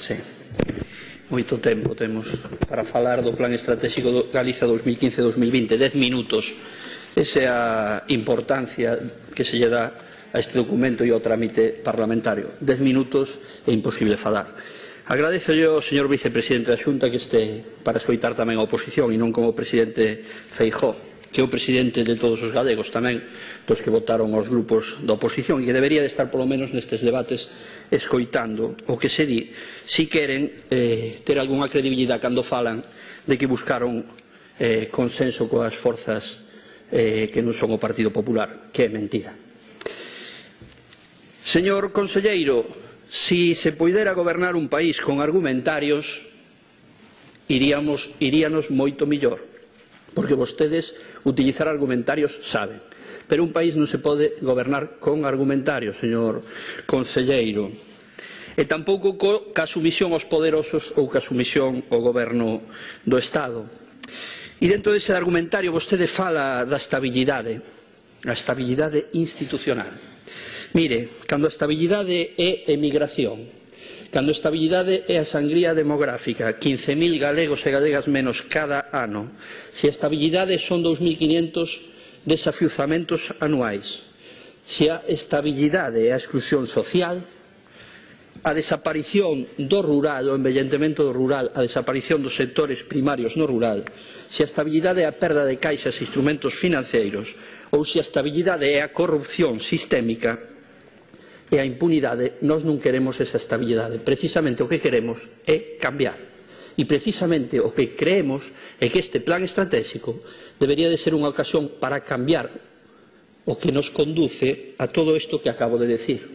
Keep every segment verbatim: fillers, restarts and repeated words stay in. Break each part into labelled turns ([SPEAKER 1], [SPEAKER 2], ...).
[SPEAKER 1] Sí. Moito tempo temos para falar do Plan Estratégico do Galicia dos mil quince a dos mil vinte. Dez minutos. Esa é a importancia que se lle dá a este documento e ao trámite parlamentario. Dez minutos é imposible falar. Agradezo ao señor vicepresidente da Xunta que este para escoitar tamén a oposición e non como o presidente Feijóo, que é o presidente de todos os galegos tamén, dos que votaron os grupos da oposición, e que debería de estar polo menos nestes debates escoitando o que se di, si queren eh, ter algunha credibilidade cando falan de que buscaron eh, consenso coas forzas eh, que non son o Partido Popular, que é mentira. Señor conselleiro, si se poidera gobernar un país con argumentarios, iríamos, iríanos moito millor, porque vostedes utilizar argumentarios saben, pero un país non se pode gobernar con argumentarios, señor conselleiro, e tampouco co, ca sumisión aos poderosos ou ca sumisión ao goberno do Estado. E dentro dese argumentario vostede fala da estabilidade, a estabilidade institucional. Mire, cando a estabilidade é emigración, cando a estabilidade é a sangría demográfica, quince mil galegos e galegas menos cada ano, se a estabilidade son dous mil quinhentos desafiuzamentos anuais, se a estabilidade é a exclusión social, a desaparición do rural, o envellentemento do rural, a desaparición dos sectores primarios no rural, se a estabilidade é a perda de caixas e instrumentos financeiros, ou se a estabilidade é a corrupción sistémica e a impunidade, nós non queremos esa estabilidade. Precisamente o que queremos é cambiar. E precisamente o que creemos é que este plan estratégico debería de ser unha ocasión para cambiar o que nos conduce a todo isto que acabo de decir.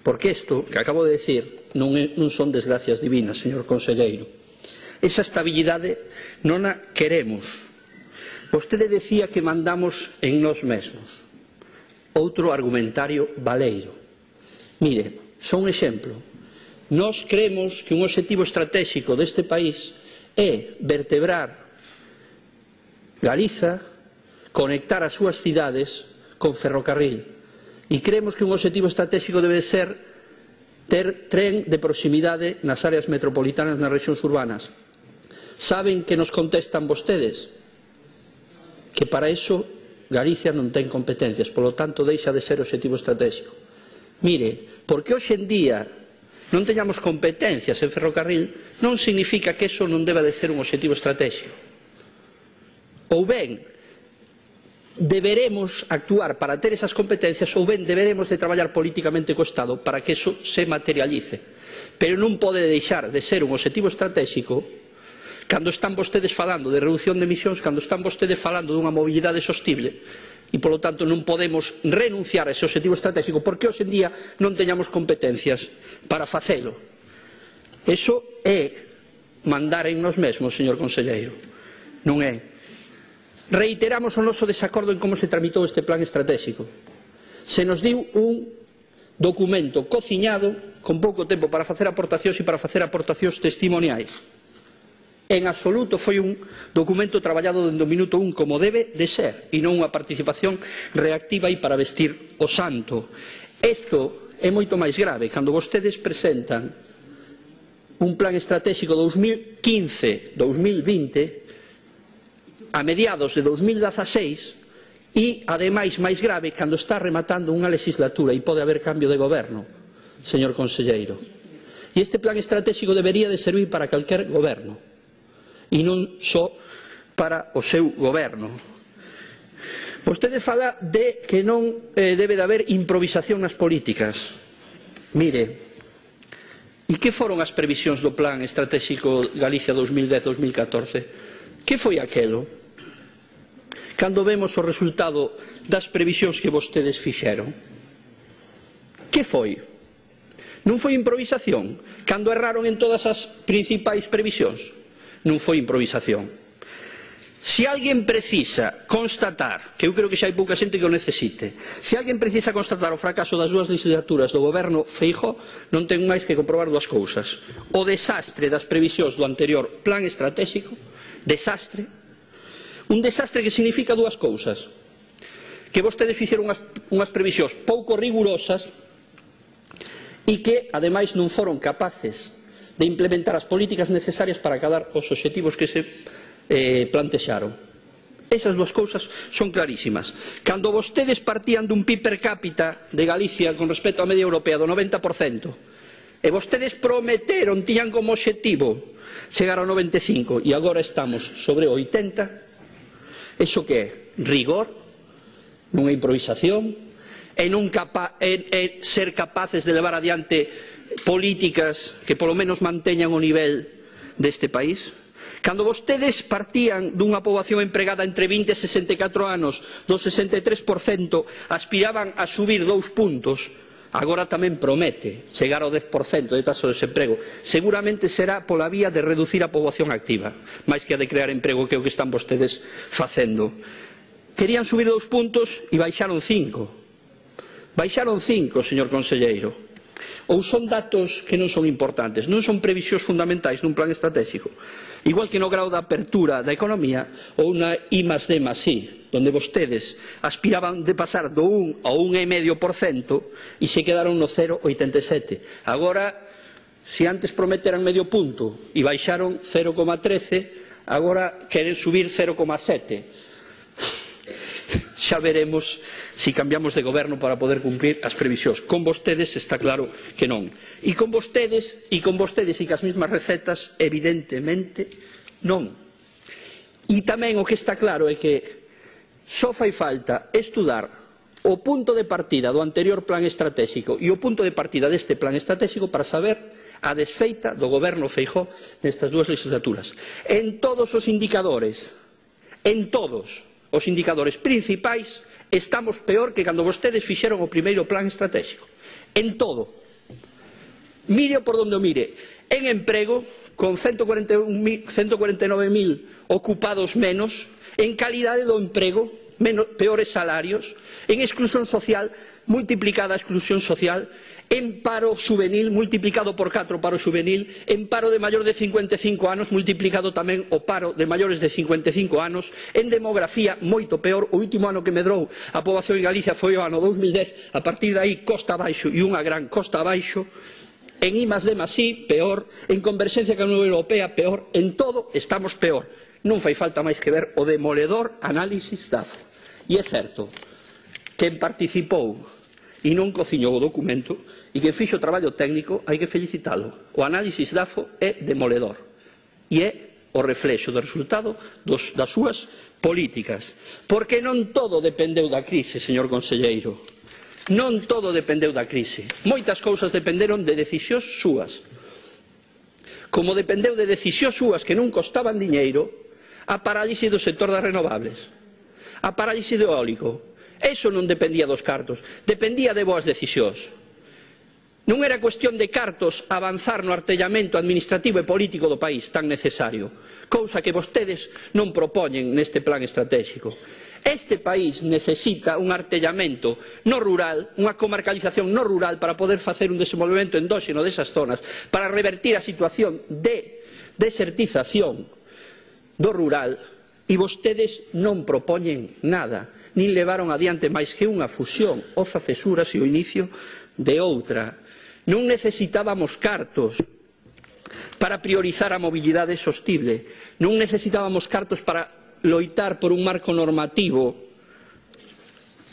[SPEAKER 1] Porque isto que acabo de decir non, é, non son desgracias divinas, señor conselleiro. Esa estabilidade non a queremos. Vostede decía que mandamos en nós mesmos. Outro argumentario baleiro. Mire, só un exemplo. Nós creemos que un obxectivo estratégico deste país é vertebrar Galiza, conectar as súas cidades con ferrocarril. E creemos que un obxectivo estratégico debe ser ter tren de proximidade nas áreas metropolitanas, nas rexións urbanas. Saben que nos contestan vostedes? Que para iso Galicia non ten competencias, polo tanto deixa de ser obxectivo estratégico. Mire, porque hoxe en día non teñamos competencias en ferrocarril non significa que eso non deba de ser un obxectivo estratégico. Ou ben, deberemos actuar para ter esas competencias, ou ben deberemos de traballar políticamente co Estado para que eso se materialice. Pero non pode deixar de ser un obxectivo estratégico cando están vostedes falando de reducción de emisións, cando están vostedes falando dunha mobilidade sostible, e polo tanto non podemos renunciar a ese obxectivo estratégico porque hoxe en día non teñamos competencias para facelo. Eso é mandar en nós mesmos, señor conselleiro. Non é. Reiteramos o noso desacordo en como se tramitou este plan estratégico. Se nos diu un documento cociñado con pouco tempo para facer aportacións e para facer aportacións testimoniais. En absoluto foi un documento traballado dende o minuto un como debe de ser e non unha participación reactiva e para vestir o santo. Isto é moito máis grave cando vostedes presentan un plan estratégico dos mil quince a dos mil vinte a mediados de dos mil dezaseis e, ademais, máis grave cando está rematando unha legislatura e pode haber cambio de goberno, señor conselleiro. E este plan estratégico debería de servir para calquer goberno e non só para o seu goberno. Vostede fala de que non eh, debe de haber improvisación nas políticas. Mire, e que foron as previsións do plan estratégico Galicia dos mil dez a dos mil catorce? Que foi aquelo? Cando vemos o resultado das previsións que vostedes fixeron? Que foi? Non foi improvisación? Cando erraron en todas as principais previsións? Non foi improvisación. Se alguén precisa constatar, que eu creo que xa hai pouca xente que o necesite, se alguén precisa constatar o fracaso das dúas legislaturas do goberno Feijóo, non ten máis que comprobar dúas cousas. O desastre das previsións do anterior plan estratégico, desastre, un desastre que significa dúas cousas. Que vostedes fixeron unhas, unhas previsións pouco rigurosas e que, ademais, non foron capaces de implementar as políticas necesarias para acadar os obxectivos que se eh, plantexaron. Esas dúas cousas son clarísimas. Cando vostedes partían dun P I B per cápita de Galicia con respecto á media europea do noventa por cento, e vostedes prometeron, tiñan como obxectivo chegar ao noventa e cinco e agora estamos sobre o oitenta, iso que é? Rigor? Non é improvisación? É, non capa, é, é ser capaces de levar adiante políticas que polo menos manteñan o nivel deste país? Cando vostedes partían dunha poboación empregada entre vinte e sesenta e catro anos do sesenta e tres por cento, aspiraban a subir dous puntos, agora tamén promete chegar ao dez por cento de taxa de desemprego. Seguramente será pola vía de reducir a poboación activa, máis que a de crear emprego, que é o que están vostedes facendo. Querían subir dous puntos e baixaron cinco. Baixaron cinco, señor conselleiro. Ou son datos que non son importantes, non son previsións fundamentais nun plan estratégico. Igual que no grau de apertura da economía ou na I más D más I, donde vostedes aspiraban de pasar do un ao un e medio por cento e se quedaron no cero vírgula oitenta e sete. Agora, se antes prometeran medio punto e baixaron cero vírgula trece, agora queren subir cero vírgula sete. Xa veremos se cambiamos de goberno para poder cumprir as previsións. Con vostedes está claro que non. E con vostedes, e con vostedes e cas mesmas recetas, evidentemente non. E tamén o que está claro é que só fai falta estudar o punto de partida do anterior plan estratégico e o punto de partida deste plan estratégico para saber a desfeita do goberno Feijóo nestas dúas legislaturas. En todos os indicadores, en todos os indicadores principais, estamos peor que cando vostedes fixeron o primeiro plan estratégico. En todo. Mire por donde o mire. En emprego, con ciento cuarenta e nove mil ocupados menos, en calidade do emprego, menos, peores salarios, en exclusión social, multiplicada a exclusión social, en paro juvenil, multiplicado por catro o paro juvenil, en paro de maior de cincuenta e cinco anos, multiplicado tamén o paro de maiores de cincuenta e cinco anos, en demografía moito peor. O último ano que medrou a poboación en Galicia foi o ano dous mil dez, a partir de aí costa abaixo e unha gran costa abaixo. En I más D más I, peor. En converxencia con a Unión Europea, peor. En todo estamos peor. Non fai falta máis que ver o demoledor análisis D A F O. E é certo, quen participou e non cociñou o documento e quen fixo o traballo técnico hai que felicitalo. O análisis D A F O é demoledor e é o reflexo do resultado dos, das súas políticas, porque non todo dependeu da crise, señor conselleiro, non todo dependeu da crise, moitas cousas dependeron de decisións súas, como dependeu de decisións súas que non costaban diñeiro a parálise do sector das renovables, a parálise do eólico. Eso non dependía dos cartos, dependía de boas decisións. Non era cuestión de cartos avanzar no artellamento administrativo e político do país tan necesario, cousa que vostedes non propoñen neste plan estratégico. Este país necesita un artellamento no rural, unha comarcalización no rural para poder facer un desenvolvemento endóxeno desas zonas, para revertir a situación de desertización do rural, e vostedes non propoñen nada, nin levaron adiante máis que unha fusión, oza cesuras e o inicio de outra. Non necesitábamos cartos para priorizar a mobilidade sostible, non necesitábamos cartos para loitar por un marco normativo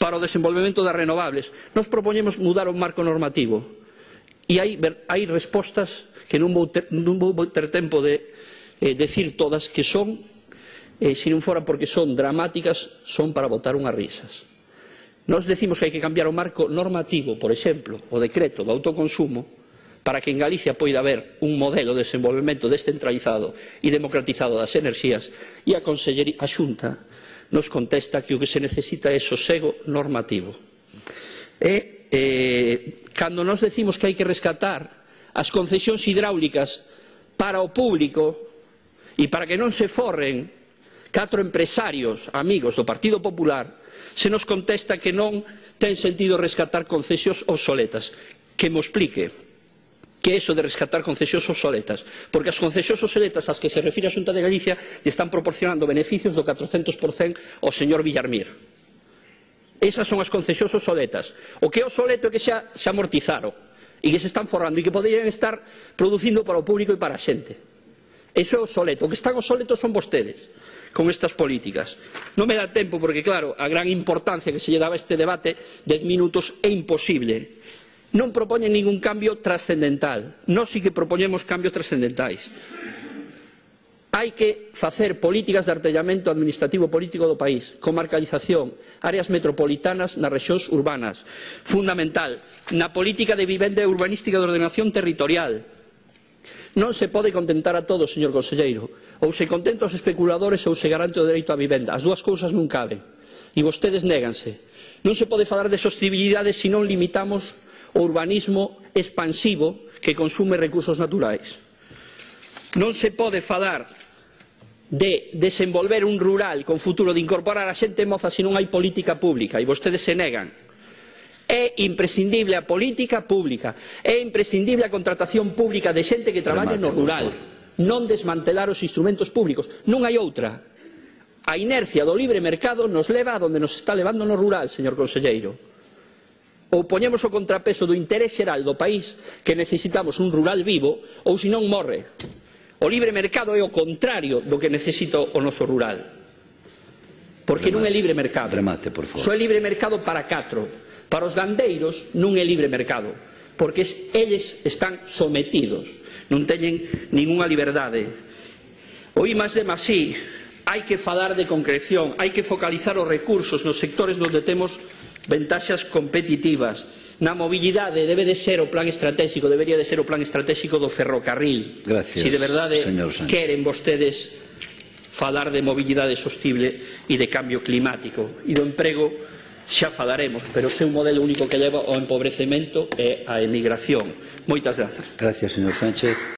[SPEAKER 1] para o desenvolvemento das renovables. Nos propoñemos mudar o marco normativo e hai, hai respostas que non vou ter, non vou ter tempo de eh, decir todas, que son, eh, se non fora porque son dramáticas, son para botar unhas risas. Nos decimos que hai que cambiar o marco normativo, por exemplo, o decreto do autoconsumo, para que en Galicia poida haber un modelo de desenvolvemento descentralizado e democratizado das enerxías, e a Consellería, a Xunta, nos contesta que o que se necesita é sosego normativo. E eh, cando nos decimos que hai que rescatar as concesións hidráulicas para o público e para que non se forren catro empresarios amigos do Partido Popular, se nos contesta que non ten sentido rescatar concesións obsoletas. Que mo explique que é iso de rescatar concesións obsoletas, porque as concesións obsoletas ás que se refire a Xunta de Galicia lle están proporcionando beneficios do catrocentos por cento ao señor Villarmir. Esas son as concesións obsoletas. O que é obsoleto é que xa se amortizaron. e que se están forrando e que poderían estar producindo para o público e para a xente. Eso é obsoleto. O que están obsoletos son vostedes con estas políticas. Non me dá tempo porque, claro, a gran importancia que se lle daba a este debate, dez minutos é imposible. Non propoñen ningún cambio trascendental. Nós sí que propoñemos cambios trascendentais. Hai que facer políticas de artellamento administrativo político do país, comarcalización, áreas metropolitanas nas rexións urbanas. Fundamental, na política de vivenda e urbanística de ordenación territorial. Non se pode contentar a todos, señor conselleiro. Ou se contenta aos especuladores ou se garante o dereito á vivenda. As dúas cousas non caben. E vostedes néganse. Non se pode falar de sostibilidade se non limitamos o urbanismo expansivo que consume recursos naturais. Non se pode falar de desenvolver un rural con futuro, de incorporar a xente moza se non hai política pública, e vostedes se negan. É imprescindible a política pública, é imprescindible a contratación pública de xente que traballe no rural, non desmantelar os instrumentos públicos. Non hai outra. A inercia do libre mercado nos leva a donde nos está levando no rural, señor conselleiro. Ou poñemos o contrapeso do interés xeral do país, que necesitamos un rural vivo, ou senón morre. O libre mercado é o contrario do que necesita o noso rural. Porque non é libre mercado.
[SPEAKER 2] Remate, por favor.
[SPEAKER 1] Só é libre mercado para catro. Para os gandeiros non é libre mercado. Porque eles están sometidos. Non teñen ningunha liberdade. O I máis D máis I, hai que falar de concreción, hai que focalizar os recursos nos sectores onde temos ventaxas competitivas. Na mobilidade debe de ser o plan estratégico, debería de ser o plan estratégico do ferrocarril.
[SPEAKER 2] Gracias,
[SPEAKER 1] se de verdade queren vostedes falar de mobilidade sostible e de cambio climático. E do emprego xa falaremos, pero o seu modelo único que leva ao empobrecemento é a emigración. Moitas grazas.
[SPEAKER 2] Gracias, señor Sánchez.